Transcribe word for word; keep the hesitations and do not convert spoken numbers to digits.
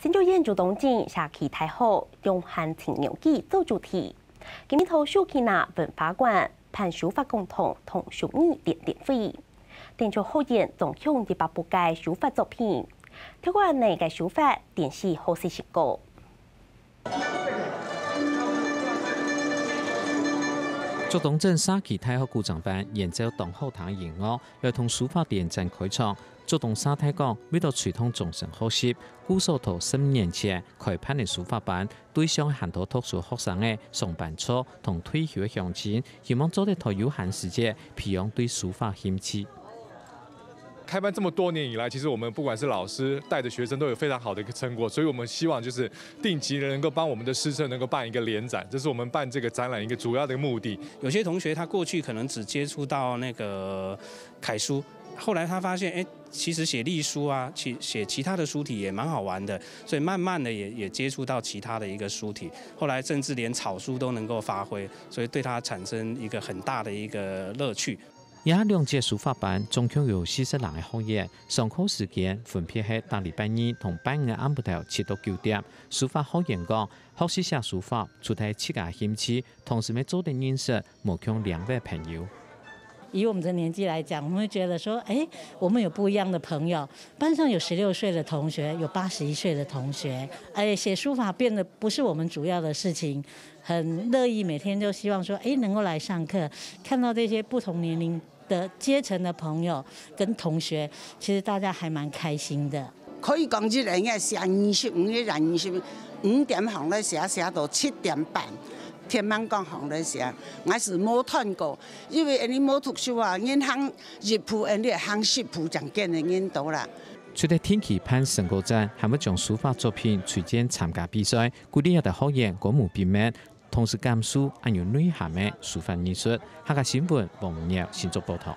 新竹縣竹東鎮社區大學用行情有機做主題，今日到樹坑仔文化館辦書法講堂同手藝展覽會。展出學員總共一百部个書法作品，透過恁仔个書法展示學習成果。竹東鎮社區大學古箏班演奏當好聽个音樂，來同書法聯展開場。 竹東社大講，為著推動終身學習，故所在十五年前開辦个書法班，對象還多讀書學生仔、上班族同退休个鄉親，希望做得在有閒時節培養對書法興趣。開班這麼多年以來，其實我們不管是老師帶著學生都有非常好的一個成果，所以我們希望就是定期能夠幫我們的師生能夠辦一個聯展，這是我們辦這個展覽一個主要的目的。有些同學他過去可能只接觸到那個楷書，後來他發現，哎，其實寫隸書啊，其寫其他的書體也蠻好玩的，所以慢慢的也也接觸到其他的一個書體，後來甚至連草書都能夠發揮，所以對他產生一個很大的一個樂趣。這兩節書法班總共有四十零个學員，上課時間分別係逐禮拜二同拜五个暗晡頭七到九點。書法學員講，學習寫書法，除忒自家興趣， 同時乜做得認識無共領域个朋友。以我們的年紀來講，我們會覺得說，哎，我們有不一樣的朋友，班上有十六歲的同學，有八十一歲的同學，哎，寫書法變得不是我們主要的事情，很樂意每天都希望說，哎，能夠來上課，看到這些不同年齡的階層的朋友跟同學，其實大家還蠻開心的。 可以講一日个寫二十五个人，二十五點行來寫，寫到七點半，天光光行來寫。𠊎係無斷過，因為𠊎等無讀書啊，人行一步，𠊎等行十步，正見个人多啦。除了定期辦成果展，還會將書法作品推薦參加比賽，鼓勵這兜學員歌舞並茂，同時感受恁有內涵个書法藝術。客家新聞，王明耀新竹報導。